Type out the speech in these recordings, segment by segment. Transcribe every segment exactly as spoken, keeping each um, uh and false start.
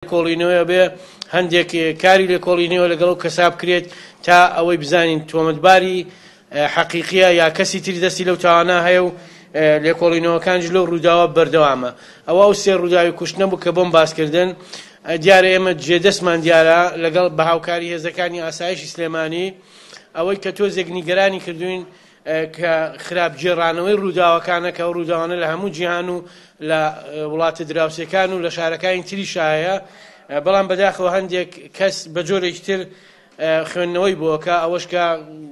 لێکۆڵینەوەیە بێ هەندێک کاری لێکۆڵینەوە لەگەڵ ئەو کەسا بکرێت تا ئەوەی بزانین تۆمەتباری حەقیقیە یا کەسی تری دەستی لەو تاوانە هەیە و لێکۆڵینەوەکانیش لەو ڕووداوە بەردەوامە. ئەوە ئەو سێ ڕووداوی کوشتنە بوو کە بۆم باسکردن. دیارە ئێمە جێدەستمان دیارە لەگەڵ بە هاوکاری هێزەکانی ئاسایشی سلێمانی ئەوەی کە تۆزێک نیگەرانی کردوین کە خراپ گێڕانەوەی ڕووداوەکانە کە ئەو ڕووداوانە لە هەموو جیهان و لە وڵاتە دراوسێکان و لە شارەکانی تریشایە، بەڵام بەداخەوە هەندێک کەس بە جۆرێکی تر خوێندنەوەی بۆکە، ئەوەش کە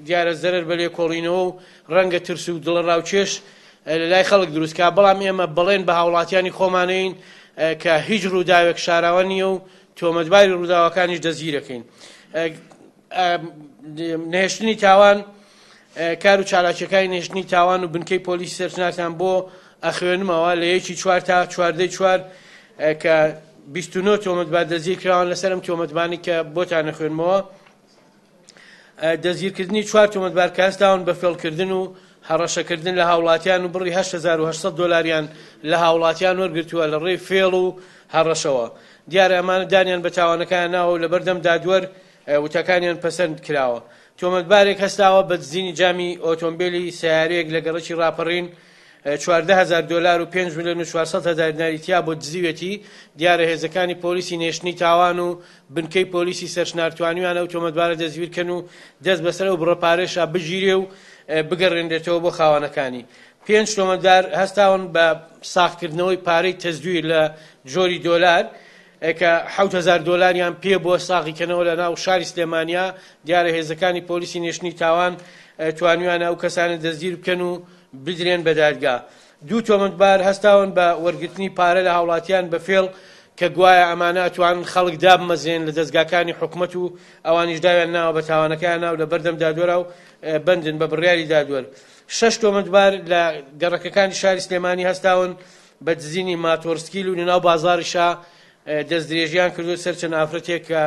دیارە زەرەر بە لێکۆڵینەوە و ڕەنگە ترس و دڵەڕاوکێش لە لای خەڵک دروستکا. بەڵام ئێمە بەڵێن بە هاوڵاتیانی خۆمانەین کە هیچ ڕووداوێک شاراوە نییە و تۆمەتباری ڕووداوەکانیش دەستگیرەکەین. نەهێشتنی تاوان، کار و چالاکیەکانی نەهێشتنی تاوان و بنکەی پۆلیسی سەرچنارتان بۆ ئەخوێنمەوە لە یەکی چوار تا چواردەی چوار کە بیست و نۆ تۆمەتبار دەستگیر کراوان لەسەر ئەم تۆمەتبانی کە بۆتان ئەخوێنمەوە. دەستگیرکردنی چوار تۆمەتبار کە هەستاون بە فێڵکردن و هەڕەشەکردن لە هاوڵاتیان و بڕی هەشت هەزار و هەشت سەد دۆلاریان لە هاوڵاتیان وەرگرتووە لە ڕێی فێڵ و هەڕەشەوە. دیارە ئەمانە دانیان بە تاوانەکان ناوە و لەبەردەم دادوەر وتەکانیان پەسەند کراوە. تۆمەتبارێک هەستاوە بە دزینی جامی ئۆتۆمبیلی سیارەیەک لە گەڕەکی ڕاپەڕین چواردە هەزار دۆلار و پێنج ملیۆن و چوارسەد هەزار دیناری تیا بۆ دزیوێتی. دیارە هێزەکانی پۆلیسی نێشتنی تاوان و بنکەی پۆلیسی سەرچنار توانیویان ئەو تۆمەتبارە دەستگیرکەن و دەست بەسەر ئەو بڕە پارێشا بگیرێ و بگەڕێنرێتەوە بۆ خاوەنەکانی. پێنج تۆمەتبار هەستاون بە ساغکردنەوەی پارەی تەزویر لە جۆری دۆلار کە حەوت هەزار دۆلاریان پێ بۆ ساغیکەنەوە لە ناو شاری سلێمانیا. دیارە هێزەکانی پۆلیسی نێشتنی تاوان توانیویانە ئەو کەسانە دەستگیر بکەن و بدرێن بە دادگا. دوو تۆمەتبار هەستاون بە وەرگرتنی پارە لە هاوڵاتیان بە فێڵ کە گوایە ئەمانە ئەتوانن خەڵک دابمەزرێن لە دەستگاکانی حکومەت و ئەوانیش داویان ناوە بە تاوانەکەیان ناو لە بەردەم دادوەرا و بەندن بە بڕیاری دادوەر. شەش تۆمەتبار لە گەڕەکەکانی شاری سلێمانی هەستاون بە دزینی ماتۆرسکیل و لەناو بازاڕیشا دەستدرێژیان کردو سەر چەند ئافرەتێک کە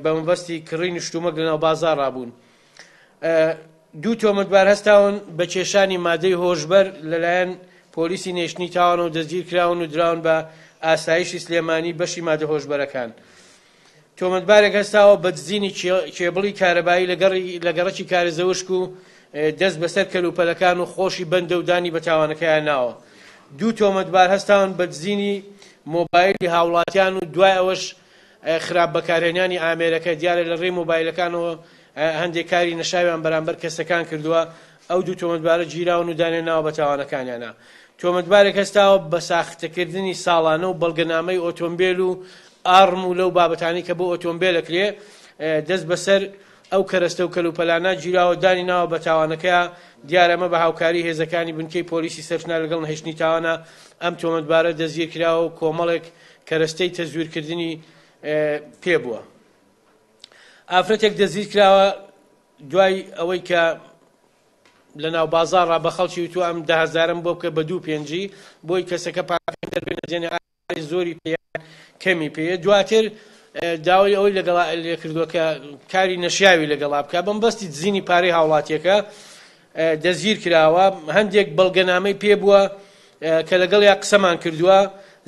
بە مەبەستی کڕینی شتومەک لەناو بازاڕا بوون. دوو تۆمەتبار هەستاون بە کێشانی مادەی هۆشبەر لەلایەن پۆلیسی نێشتنی تاوانەوە دەستگیر کراون و دراون بە ئاسایشی سلێمانی بەشی مادە هۆشبەرەکان. تۆمەتبارێک هەستاوە بە دزینی کێبڵی کارەبایی لە گەڕەکی کارێزەوشک و دەست بەسەر کەلوپەلەکان و خۆشی بەندە و دانی بە تاوانەکەیان ناوە. دوو تۆمەتبار هەستاون بە دزینی مۆبایلی هاوڵاتیان و دوای ئەوەش خراپ بەکارهێنانی ئامێرەکە. دیارە لە ڕێی مۆبایلەکانەوە هەندێک کاری نەشاویان بەرامبەر کەسەکان کردووە. ئەو دوو تۆمەتبارە گیراون و دانیان ناوە بە تاوانەکانیانە. تۆمەتبارێک هەستاوە بە ساختەکردنی ساڵانە و بەڵگەنامەی ئۆتۆمبیل و ئارم و لەو بابەتانی کە بۆ ئۆتۆمبیلەکرێ دەست بەسەر ئەو کەرەستە و کەلوپەلانە گیراوە دانی ناوە بە تاوانەکەیە. دیارە ئەمە بە هاوکاری هێزەکانی بنکەی پۆلیسی سەرچنار لەگەڵ نەهێشتنی تاوانە ئەم تۆمەتبارە دەستگیر کراوە و کۆمەڵێک کەرەستەی تەزویرکردنی پێ بووە. ئافرەتێک دەستگیر کراوە دوای ئەوەی کە لە ناو بازاڕا بە خەڵکی وتووە ئەم دە هەزارم بۆ بکە بە دوو پێنجی بۆی کەسەکە پارەکەی دەربێنە جێنێ زۆری پێ کەمی پێیە. دواتر داوای ئەوەی لەگەڵا لێ کردووە کە کاری نەشیاوی لەگەڵا بکە بەم بەستی دزینی پارەی هاوڵاتیەکە دەستگیر کراوە. هەندێک بەڵگەنامەی پێ بووە کە لەگەڵیا قسەمان کردووە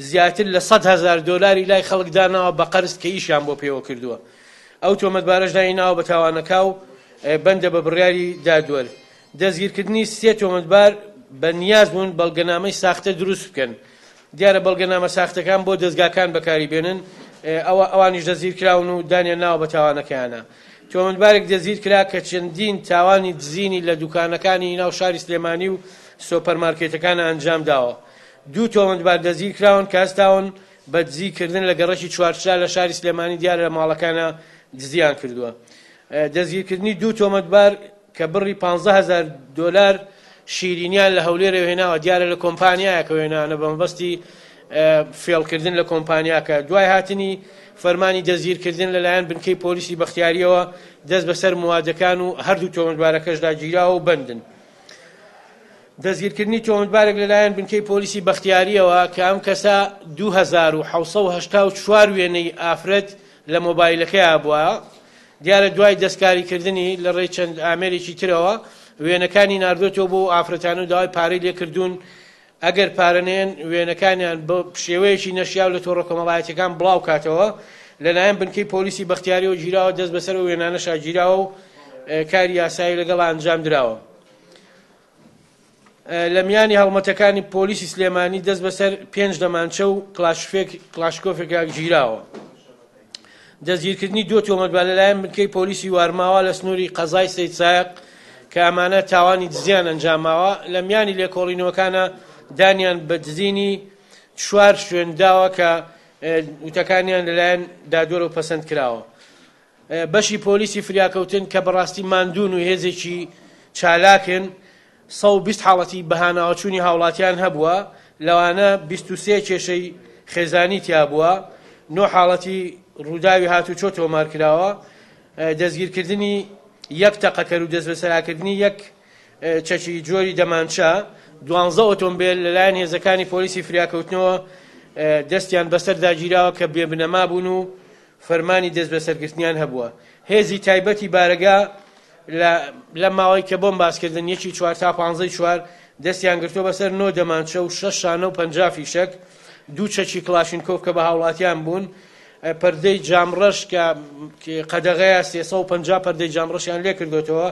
زیاتر لە سەد هەزار دۆلاری لای خەڵک داناوە بە قەرز کە ئیشیان بۆ پێوە کردووە. ئەو تۆمەتبارەش دانی ناوە بە تاوانەکە و بەندە بە بڕیاری دادوەر. دەستگیرکردنی سێ تۆمەتبار بە نیاز بوون بەڵگەنامەی ساختە دروست بکەن. دیارە بەڵگەنامە ساختەکان بۆ دەستگاکان بەکاری بێنن، ئەوە ئەوانیش دەستگیر کراون و دانیان ناوە بە تاوانەکەیانە. تۆمەتبارێک دەستگیر کرا کە چەندین تاوانی دزینی لە دوکانەکانی ناو شاری سلێمانی و سۆپەرمارکێتەکان ئەنجام داوە. دوو تۆمەتبار دەستگیر کراون کە هەستاون بە دزیکردن لە گەڕەکی چوارچرا لە شاری سلێمانی، دیارە لە ماڵەکانە دزیان کردووە. دەستگیرکردنی دوو تۆمەتبار کە بڕی پانزە هەزار دۆلار شیرینیان لە هەولێرەوە هێناوە، دیارە لە کۆمپانیایەکەوە هێنانە بە مەبەستی فێڵکردن لە کۆمپانیاکە. دوای هاتنی فەرمانی دەستگیرکردن لەلایەن بنکەی پۆلیسی بەختیاریەوە دەست بەسەر موادەکان و هەردوو تۆمەتبارەکەشدا گیراوە و بەندن. دەستگیرکردنی تۆمەتبارێک لەلایەن بنکەی پۆلیسی بەختیاریەوە کە ئەم کەسە دوو هەزار و حەوت سەد و هەشتا و چوار وێنەی ئافرەت لە مۆبایلەکەیا بووە. دیارە دوای دەستکاریکردنی لە ڕێی چەند ئامێرێکی ترەوە وێنەکانی ناردوێتەوە بۆ ئافرەتان و داوای پارەی لێکردوون. ئەگەر پارەنێن وێنەکانیان بە شێوەیەکی نەشیاو لە تۆڕە کۆمەڵایەتیەکان بڵاو کاتەوە. لەلایەن بنکەی پۆلیسی بەختیاریەوە گیراوە، دەست بەسەر وێنانەشا گیراوە و کاری یاسایی لەگەڵ ئەنجام دراوە. لە میانی هەڵمەتەکانی پۆلیسی سلێمانی دەست بەسەر پێنج دەمانچە و کلاشکۆفێکا گیراوە. دەستگیرکردنی دوو تۆمەتبار لەلایەن بنکەی پۆلیسی وارماوە لە سنووری قەزای سەیدسایەق کە ئەمانە تاوانی دزیان ئەنجاماوە. لە میانی لێکۆڵینەوەکانە دانیان بە دزینی چوار شوێن داوە کە وتەکانیان لەلایەن دادوەرەوە پەسەند کراوە. بەشی پۆلیسی فریاکەوتن کە بەڕاستی ماندوون و هێزێکی چالاکن، سەد و بیست حاڵەتی بەهاناوەچوونی هاوڵاتیان هەبووە، لەوانە بیست و سێ کێشەی خێزانی تیا بووە، نۆ حاڵەتی ڕووداوی هاتوچۆ تۆمار کراوە، دەستگیرکردنی یەک تەقەکەر و دەستبەسەراکردنی یەک چەکی جۆری دەمانچە، دوانزە ئۆتۆمبیل لەلایەن هێزەکانی پۆلیسی فریاکەوتنەوە دەستیان بەسەردا گیراوە کە بێبنەما بوون و فەرمانی دەستبەسەرگرتنیان هەبووە. هێزی تایبەتی بارەگا لە ماوەی کە بۆم باسکردن یەکی چوار تا پانزەی چوار دەستیان گرتووە بەسەر نۆ دەمانچە و شەش شانە و پەنجا فیشەک، دوو چەکی کلاشینکۆف کە بە هاوڵاتیان بوون، پەردەی جامڕەش کە قەدەغەیە سێ سەد و پەنجا پەردەی جامڕەشیان لێ کردوێتەوە،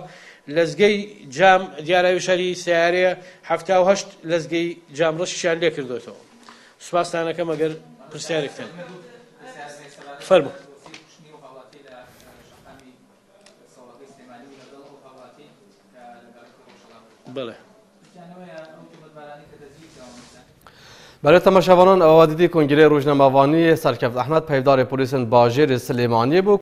لەزگەی جام دیاراوی شەری سیارەیە حەفتا و هەشت لەزگەی جامڕەشیان لێ کردوێتەوە. سوپاستانەکەم ئەگەر پرسیارێکتان فەرموو. بەڵێ. برای تماشاوانان ئەوە دیدی کنگرەی ڕۆژنامەوانی سەرکەفت ئەحمەد پەیڤداری پۆلیسن باژێری سلێمانی بوو.